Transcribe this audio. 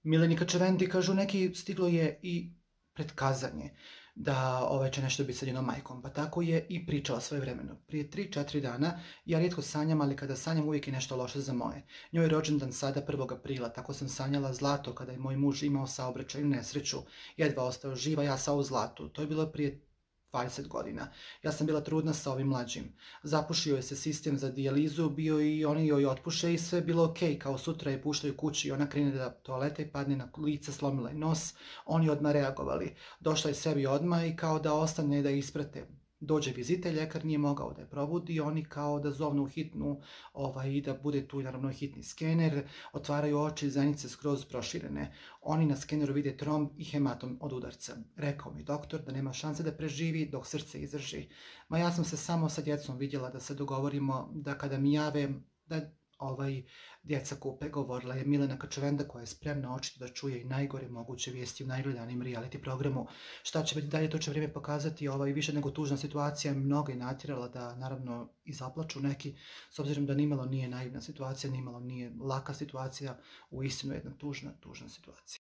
Milenika Čevendi, kažu neki, stiglo je i pretkazanje da će nešto biti sa njenom majkom, pa tako je i pričala svojevremeno. Prije 3-4 dana, ja rijetko sanjam, ali kada sanjam uvijek je nešto loše za moje. Njoj je rođendan sada 1. aprila, tako sam sanjala zlato kada je moj muž imao saobraćajnu nesreću, jedva ostao živa, ja sa u zlatu. To je bilo prije 20 godina. Ja sam bila trudna sa ovim mlađim. Zapušio je se sistem za dijalizu, bio i oni joj otpuše i sve je bilo okej, kao sutra je puštaju kući i ona krene da toaleta i padne na lice, slomila je nos, oni odmah reagovali. Došla je sebi odmah i kao da ostane da isprate. Dođe vizitelj, ljekar nije mogao da je probudi, oni kao da zovnu hitnu i da bude tu naravno hitni skener, otvaraju oči, zenice skroz proširene. Oni na skeneru vide tromb i hematom od udarca. Rekao mi doktor da nema šanse da preživi dok srce izdrži. Ma ja sam se samo sa djecom vidjela da se dogovorimo da kada mi jave da djeca kupe, govorila je Milena Čevenda koja je spremna očito da čuje i najgore moguće vijesti u najgledanim reality programu. Šta će biti dalje, to će vrijeme pokazati. Više nego tužna situacija mnogo je natjerala da naravno i zaplaču neki, s obzirom da nimalo nije naivna situacija, nimalo nije laka situacija, uistinu jedna tužna situacija.